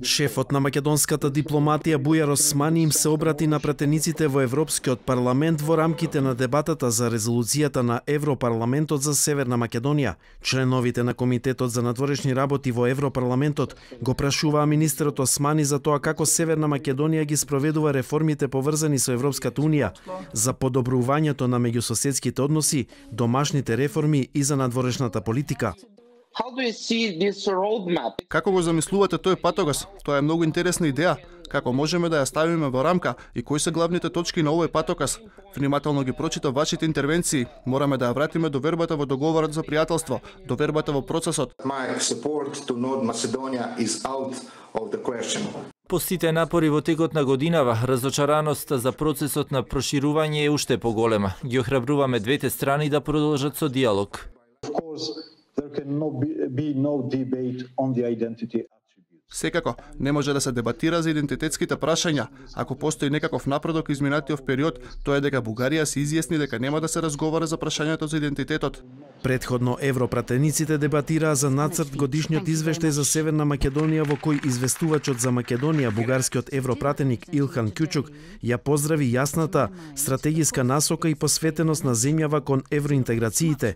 Шефот на македонската дипломатија Бујар Османи им се обрати на пратениците во Европскиот парламент во рамките на дебатата за резолуцијата на Европарламентот за Северна Македонија. Членовите на Комитетот за надворешни работи во Европарламентот го прашуваа министерот Османи за тоа како Северна Македонија ги спроведува реформите поврзани со Европската унија, за подобрувањето на меѓусоседските односи, домашните реформи и за надворешната политика. Како го замислувате тој патогас? Тоа е многу интересна идеја. Како можеме да ја ставиме во рамка и кои се главните точки на овој патоказ? Внимателно ги прочитав вашите интервенции. Мораме да ја вратиме довербата во договорот за пријателство, довербата во процесот. По сите напори во текот на годинава, разочараноста за процесот на проширување е уште поголема. Ги охрабруваме двете страни да продолжат со диалог. Секако, не може да се дебатира за идентитетските прашања. Ако постои некаков напредок изминатиот период, тоа е дека Бугарија се изјасни дека нема да се разговара за прашањето за идентитетот. Предходно европратениците дебатираа за нацрт годишниот извештај за Северна Македонија, во кој известувачот за Македонија, бугарскиот европратеник Илхан Кючук, ја поздрави јасната стратегиска насока и посветеност на земјава кон евроинтеграциите.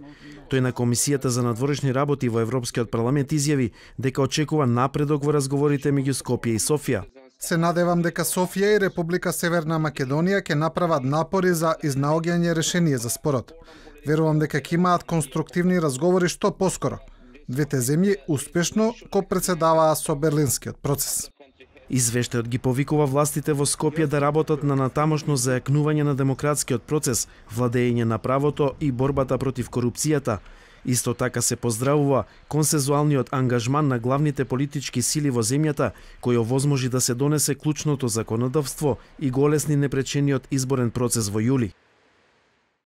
Тој на Комисијата за надворешни работи во Европскиот парламент изјави дека очекува напредок во разговорите меѓу Скопје и Софија. Се надевам дека Софија и Република Северна Македонија ќе направат напори за изнаоѓање решение за спорот. Верувам дека ќе имаат конструктивни разговори што поскоро. Двете земји успешно копредседаваа со Берлинскиот процес. Извештајот ги повикува властите во Скопје да работат на натамошно зајакнување на демократскиот процес, владење на правото и борбата против корупцијата. Исто така се поздравува консензуалниот ангажман на главните политички сили во земјата, кој овозможи да се донесе клучното законодавство и го олесни непречениот изборен процес во јули.